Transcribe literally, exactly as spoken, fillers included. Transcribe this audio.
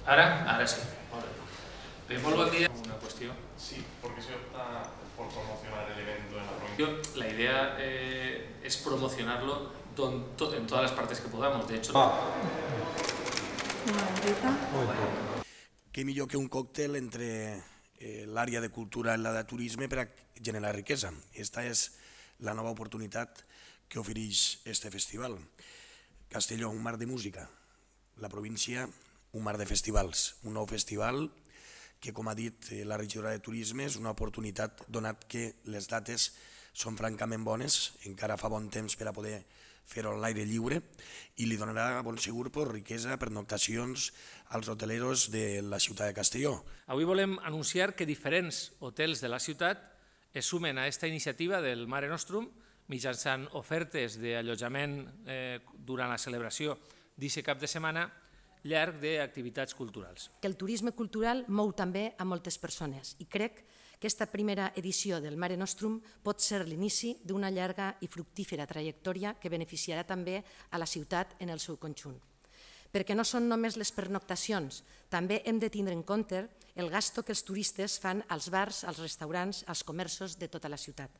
Ara? Ara sí. Bé, molt bon dia. Una qüestió. Sí, ¿por qué se opta por promocionar el evento en la provincia? La idea eh, es promocionarlo don, to, en todas las partes que podamos. De hecho, Què millor que un còctel entre eh, l'àrea de cultura i la de turisme per a generar riquesa. Esta és la nova oportunitat que ofereix este festival. Castelló, un mar de música. La província, un mar de festivals. Un nou festival que, com ha dit la regidora de Turisme, és una oportunitat donat que les dates són francament bones, encara fa bon temps per a poder fer-ho a l'aire lliure i li donarà, bon segur, riquesa, pernoctacions als hoteleros de la ciutat de Castelló. Avui volem anunciar que diferents hotels de la ciutat es sumen a aquesta iniciativa del Mare Nostrum mitjançant ofertes d'allotjament eh, durant la celebració d'aquest cap de setmana llarg d'activitats culturals. Que el turisme cultural mou també a moltes persones i crec que aquesta primera edició del Mare Nostrum pot ser l'inici d'una llarga i fructífera trajectòria que beneficiarà també a la ciutat en el seu conjunt. Perquè no són només les pernoctacions, també hem de tindre en compte el gasto que els turistes fan als bars, als restaurants, als comerços de tota la ciutat.